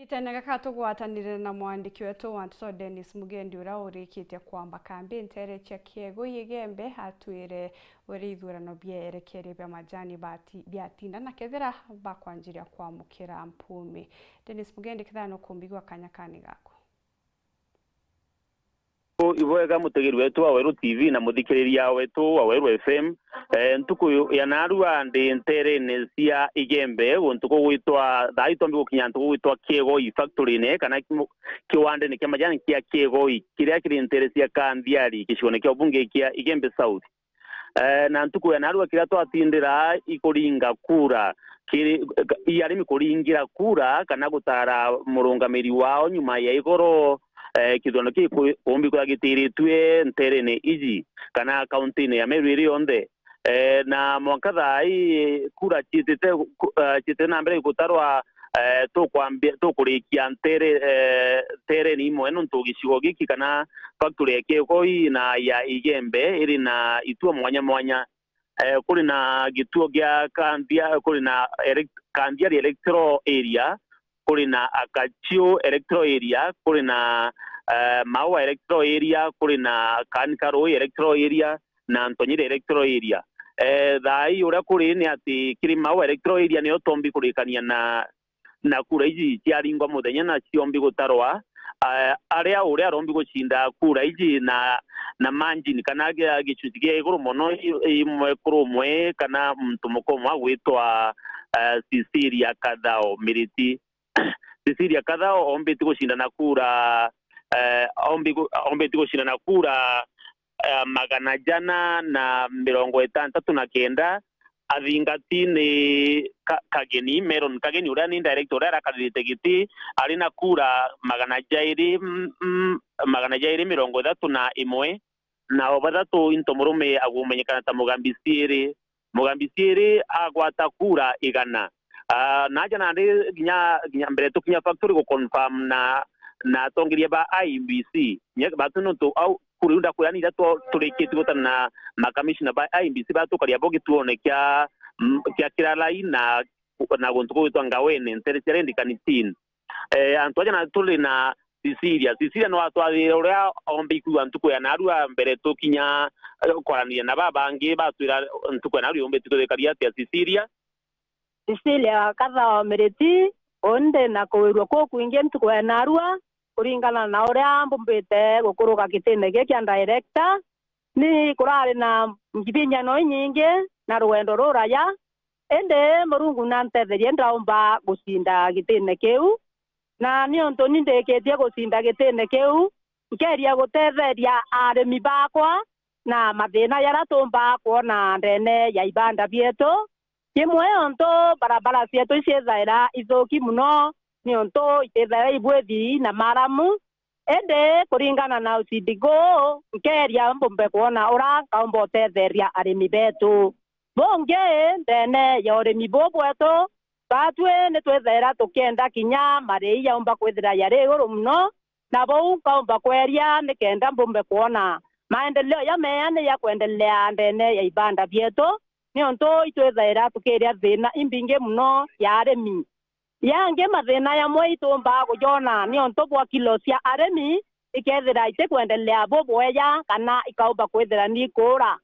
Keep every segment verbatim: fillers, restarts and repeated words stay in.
Itene gaka tugwatanire na mwandiki wetu wa nteto Dennis Mugendi, uria urikitie kwamba kambi ntere cia Kiegoi Igembe, atwire uria ithurano bierekerie bia majani bati-, biatinda na kethira bakwanjiria kwamukira mpumi. Dennis Mugendi, kethira nukumbigua kanya kani gaku. Ibwega mutegeri wetu wa Weru T V na muthikiriria wetu wa Weru F M. Eh, ntuku ya narua ndi nterene cia Igembe, guntu kugwitwa, thaa itombi gukinya ntuku gugwitwa Kiegoi factory-ine kana ki-, kiwandene kia majani kia Kiegoi, kiria kiri ntere cia Kanthiari, gicigone kia ubunge kia Igembe South. Eh, na ntuku ya narua kiria twatindira ikuringa kura, kiri, i arimi kuringira kura kana gutara murungamiri wao nyuma ya igoro, eh, kithurano kii ku-, kumbi kwithirwa gitiritue nterene iji kana kaunti-ine ya Meru iri yonthe. Eh, na mwanka thaa ii kura ciitite ku-, eh, ciitite na mbere gutarwa, eh, tukwambia, tukurikia ntere, eh, ntereni imwe, nontu gicigo giki kana factory ya Kiegoi na ya Igembe iri na ituo mwanya mwanya. Eh, kuri na gituo gia Kanthia-, kuri na elec-, Kanthiari Electoral Area, kuri na Akaciu Electoral Area, kuri na, eh, Maua Electoral Area, kuri na Kanikarui Electoral Area, na Ntonyiri Electoral Area. Eh, thaa ii uria kuri ni ati kiri Maua Electoral Area niyo tombi kurikania na, na kura iji ciaringwa muthenya na ciombi gutarwa. Eh, aria uria arombi gucinda kura iji na, na margin kana gia-, gicunci gia iguru mono i-, imwe kuri umwe kana muntu muka umwe agwitwa, eh, Cecilia Kathao Miriti. Cecilia Kathao ombiti gucinda na kura, eh, ombi gu-, ombiti gucinda na kura, eh, magana jana na mirongo itantatu na kenda. Athingati ni Ka-, Kageni, Meron Kageni, uria ni director uria arakaririte giti, ari na kura magana jairi, mm, mm, magana jairi mirongo ithatu na imwe. Na o bathatu into murume agumenyekana ta Mugambi Ciiri. Mugambi Ciiri agwata kura igana. Ah, naja nandi kinya, kinya mbere tukinya factory gu confirm na, na atongeria ba I E B C. Nye batu nontu au kura iu ndakwira ni iria tu-, turikitie gutana na makamishina ba I E B C batukaria bo gituone kia, mm, kia Kiralai na, na guntu kugwitwa Ngawene, ntere cia Rendikanitin. Eh, antu aja na turi na Cecilia. Cecilia no atwarire uria ombi kwigua ntuku ya narua mbere tukinya, eh, kwaraniria na babangi batwira ntuku ya narua yombi tukwithikaria atia Cecilia. Cecilia Kathao Miriti, undi na kuwirua kuu kwingi ntuku ya narua, kuringana na uria mbumbite gukuruka gitine giki kia director, ni kurari na ngibinyano inyingi na rugendo ruraya, indi Murungu nantetherie ndaumba gucinda gitine kiu. Na niuntu ni ndikitie gucinda gitine kiu, nkeria gutetheria arimi bakwa na mathina jaria tuumba kwona ndene ya ibanda bietu. Kimwe, untu barabara cietu iciithaira ithuki mono, niuntu itithaira ibwithi na maramu. Indi kuringana na ucindi guu, nkeria mbumbe kwona uria nkaumba utetheria arimi betu. Bungi, ndene ya urimi buu bwetu, batwi ni twithaira tukienda kinya marii jaumba kwithira jari iguru mono, na buu nkaumba kweria nikenda mbumbe kwona maendeleo jameea ni jakwendelea ndene ya ibanda bietu, niuntu itwithaira tukiria thina imbingi mono ya arimi. Yangi, mathina jamwe ituumba kujona niuntu bwa kilo cia arimi ikethira itikwendelea bubwega kana ikaumba kwithira ni ikuura.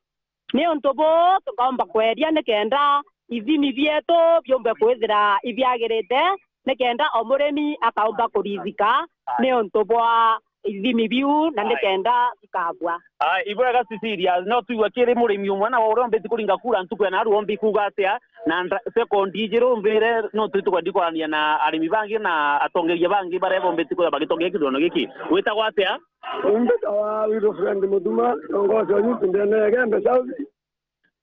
Niuntu buu, tukaumba kweria nikenda ithimi bietu biumbe kwithira ibiagirite, nikenda o murimi akaumba kurithika niuntu bwa ithimi biu na nikenda bikabua. Ah, ibwega Cecilia, no twigua kiri murimi umwe na uria ombiti kuringa kura ntuku ya narua ombi kuuga atia, na nda-, sekondi ijiru mbire no twi tukwendi kwarania na arimi bangi na atongeria bangi baria bombiti kwithira bagitongeria kithurano giki. Witagwa atia? Umbitawa Wilfred Mutuma, ndongosi wa youth ndene ya Igembe South.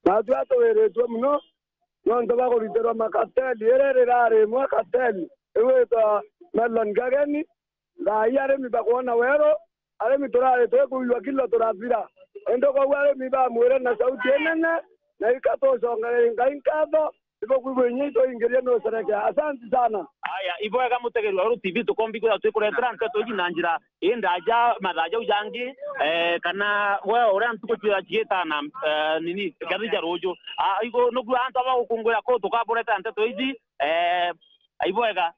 Natwi atuwiritue mono nontu bwa kuritirwa makateli, iri rirari imwe kateli, iu itwa Melon Kageni. Thaa ii arimi bakwona weru, arimi turari twikuigua kilo turathira. Indi koguo arimi bamwire na sauti inene, na ikatucongere Ngai nkatho, ibukwigua inya itwingirie nucerekea. Asanti sana. Aya, ibwega mutegeri wa Weru T V, tukombi kwithirwa twikuretera nteto iji na njira indaja mathaa jau jangi, eh, kana we uria ntuku cigitana, eh, nini, kathi ja ruju. Ah, igo nugu antu aba gukunguira kuu tukaburetera nteto iji, eh, ibwega.